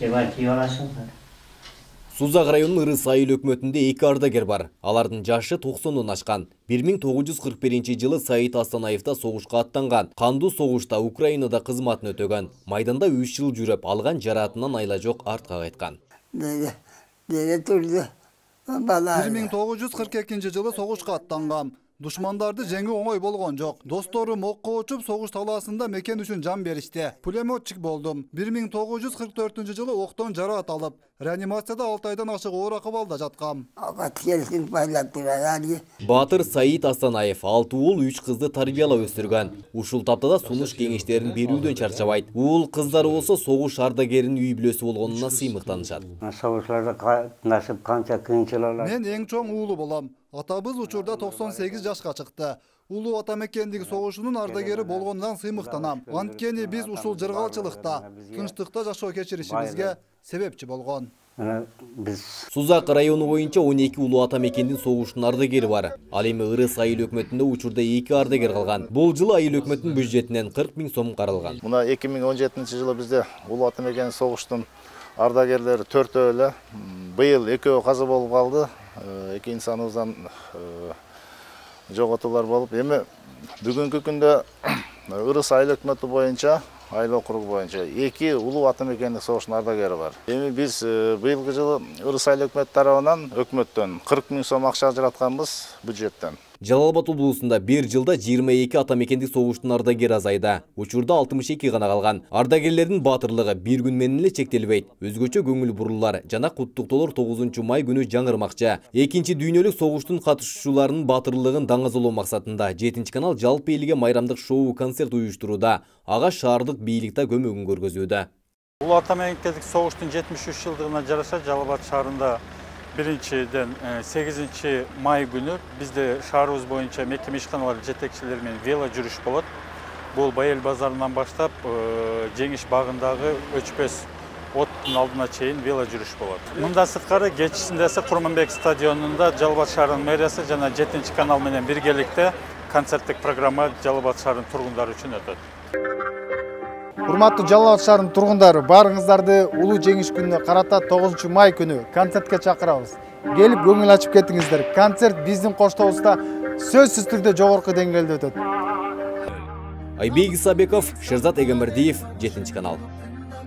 Кебай аласыңдар. Сузак районунун Ырыс айыл өкмөтүндө 2 ардагер бар. Алардын жашы 90-дон ашкан. 1941-жылы Саид Астанаевда согушка аттанган. Кандуу согушта Украинада кызматын өтөгөн. Майданда 3 жыл жүрөп, алган жараатынан айла жок артка кайткан. 1942-жылы согушка аттанган. Душмандарды жеңүү оңой болгон жок. Досторум окко учуп согуш талаасында мекен үчүн жан беришти. Пулеметчик болдум. 1944-жылы октон жараат алып, реанимацияда 6 айдан ашык оор акыбалда жаткам. Баатыр Саид Астанаев 6 уул 3 кызды тарбиялап өстүргөн. Ушул таптада сунуш кеңештерин берүүдөн чарчабайт. Уул кыздары болсо согуш ардагеринин үй бүлөсү болгонуна сыймыктанышат. Согушларда насып канча кыйынчылыктар. Мен эң чоң уулу болом. Атабыз учурда 98 жашка чыкты. Улуу ата мекендиги согушунун ардагери болгондон сыймыктанам. Анткени биз ушул жыргалчылыкта, тынчтыкта жашоо кечиришибизге себепчи болгон. Сузак району боюнча 12 улуу ата мекендин согуштун ардагери бар. Ал эми Ырыс айыл өкмөтүндө учурда 2 ардагер калган. Бул жылы айыл өкмөтүнүн бюджетинен 40 000 сом каралган. Мына 2017-жылы бизде улуу ата мекендин согуштун ардагерлери 4 эле. Быйыл 2 каза болуп калды. 2 инсаныбыздан жоготуулар болуп, эми бүгүнкү күндө Ырыс айыл өкмөтү боюнча, айыл округу боюнча 2 улуу ата мекендик согуштун ардагери бар. Эми биз быйылкы жылы Ырыс айыл өкмөтү тарабынан өкмөттөн 40 000 сом акча ажыратканбыз бюджеттен. Жалал Абад облусунда 1 жылда 22 ата мекендик согуштун ардагери азайда. Учурда 62 гана калган. Ардагерлердин баатырлыгы бир күн менен эле чектелбейт. Өзгөчө көңүл бурулар жана куттуктоолор 9 май күнү жаңырмакчы. Экинчи дүйнөлүк согуштун катышуучуларынын баатырлыгын даңазалоо максатында 7-канал жалпы элге майрамдык шоу концерт уюштурууда. Ага шаардык бийлик да көмөгүн көргөзүүдө. Улуу ата мекендик согуштун 73 жылдыгына жараша Жалал Абад шаарында 8 май күнү бизде шаарыбыз боюнча мекеме ишканалар жетекчилери менен вело жүрүш болот. Бул Байел базарынан баштап Жеңиш багындагы өчпөс оттун алдына чейин вело жүрүш болот. Мында сырткары кечисинде Курманбек стадионунда Жалал Абад шаарынын мэриясы жана 7-канал менен биргеликте концерттик программа Жалал Абад шаарынын тургундары үчүн өтөт. Урматтуу Жалал Абад шаарынын тургундары, баарыңыздарды улуу жеңиш күнүнө карата 9 май күнү концертке чакырабыз. Келип көңүл ачып кетиңиздер. Концерт биздин коштобузда сөзсүз түрдө жогорку деңгээлде өтөт. Айбек Исабеков, Шерзат Эгембердиев, 7-канал.